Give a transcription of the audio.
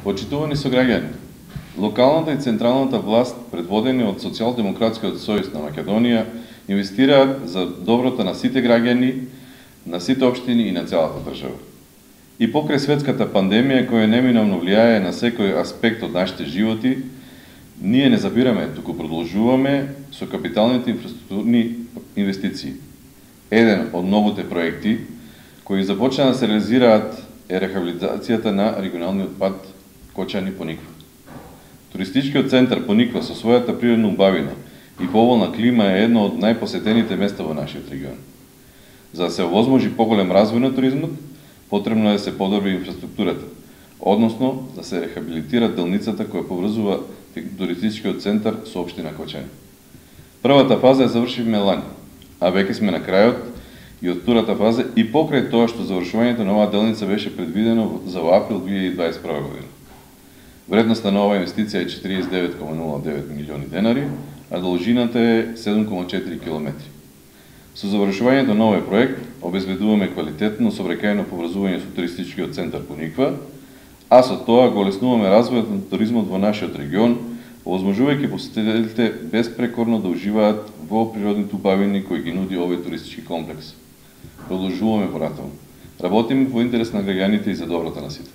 Почитувани сограѓани, локалната и централната власт, предводени од Социјалдемократскиот сојуз на Македонија, инвестираат за доброто на сите граѓани, на сите општини и на целата држава. И покрај светската пандемија која неминовно влијае на секој аспект од нашите животи, ние не забираме, туку продолжуваме со капиталните инфраструктурни инвестиции. Еден од многуте проекти кои започна да се реализираат е рехабилитацијата на регионалниот пат Кочани-Пониква. Туристичкиот центар Пониква со својата природна убавина и поволна клима е едно од најпосетените места во нашиот регион. За да се овозможи поголем развој на туризмот, потребно е да се подобри инфраструктурата, односно да се рехабилитира делницата која поврзува туристичкиот центар со општина Кочани. Првата фаза ја завршивме лани, а веќе сме на крајот и од втората фаза и покрај тоа што завршувањето на оваа делница беше предвидено за април 2021 година. Вредноста на оваа инвестиција е 49,09 милиони денари, а должината е 7,4 километри. Со завршувањето на овој проект обезбедуваме квалитетно сообраќајно поврзување со туристичкиот центар Пониква, а со тоа го олеснуваме развојот на туризмот во нашиот регион, овозможувајќи посетителите безпрекорно да уживаат во природните убавини кои ги нуди овој туристички комплекс. Продолжуваме понатаму. Работиме во интерес на граѓаните и за доброто на сите.